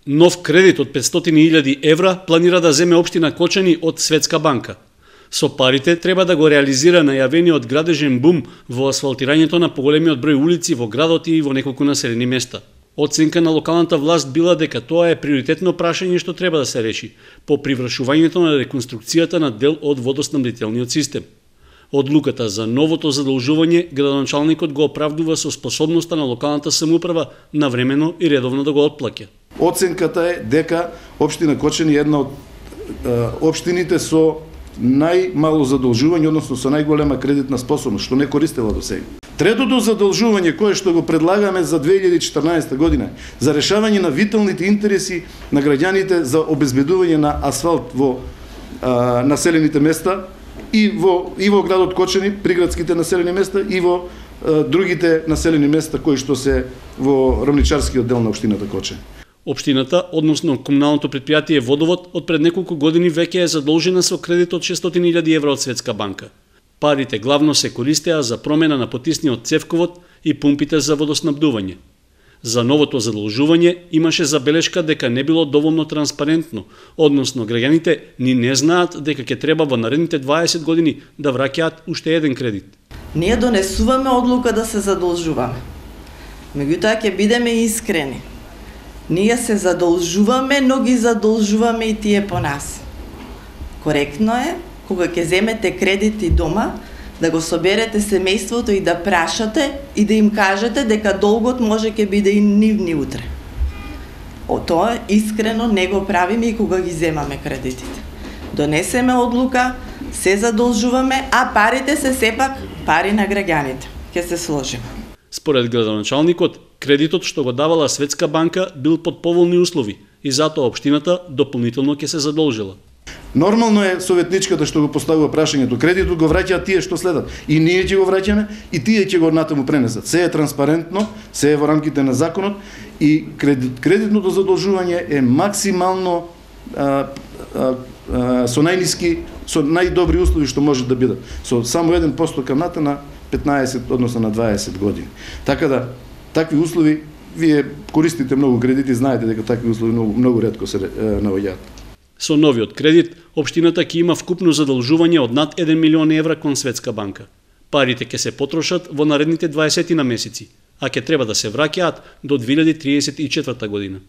Нов кредит од 500.000 евра планира да земе општина Кочани од Светска банка. Со парите треба да го реализира најавениот градежен бум во асфалтирањето на поголемиот број улици во градот и во неколку населени места. Оценка на локалната власт била дека тоа е приоритетно прашање што треба да се реши по привршувањето на реконструкцијата на дел од водоснабдителниот систем. Одлуката за новото задолжување градоначалникот го оправдува со способноста на локалната самоуправа навремено и редовно да го отплаќа. Оценката е дека општина Кочани е една од општините со најмало задолжување, односно со најголема кредитна способност, што не користела до сега. Третото задолжување кое што го предлагаме за 2014 година за решавање на виталните интереси на граѓаните за обезбедување на асфалт во населените места и во градот Кочани, приградските населени места и во другите населени места кои што се во рамничарскиот дел на општината Кочани. Општината, односно комуналното предпријатие Водовод, од пред неколку години веќе е задолжена со кредит од 600.000 евра од Светска банка. Парите главно се користеа за промена на потисниот цевковод и пумпите за водоснабдување. За новото задолжување имаше забелешка дека не било доволно транспарентно, односно граѓаните ни не знаат дека ќе треба во наредните 20 години да враќаат уште еден кредит. Ние донесуваме одлука да се задолжуваме. Меѓутоа ќе бидеме искрени. Ние се задолжуваме, но ги задолжуваме и тие по нас. Коректно е, кога ќе земете кредити дома, да го соберете семејството и да прашате и да им кажете дека долгот може ќе биде и нивни утре. Тоа искрено не го правиме и кога ги земаме кредитите. Донесеме одлука, се задолжуваме, а парите се сепак пари на граѓаните. Ќе се сложиме. Според градоначалникот, кредитот што го давала Светска банка бил под поволни услови и затоа општината дополнително ќе се задолжила. Нормално е советничката што го поставува прашањето, кредитот го враќаат тие што следат. И ние ќе го враќаме, и тие ќе го натаму пренесат. Се е транспарентно, се е во рамките на законот и кредитното задолжување е максимално со најниски, со најдобри услови што може да бидат. Со само 1% камната на 15, односно на 20 години. Така да, такви услови, вие користите многу кредити, знаете дека такви услови многу ретко се наоѓаат. Со новиот кредит, општината ќе има вкупно задолжување од над 1 милион евра кон Светска банка. Парите ќе се потрошат во наредните 20 месеци, а ќе треба да се враќаат до 2034 година.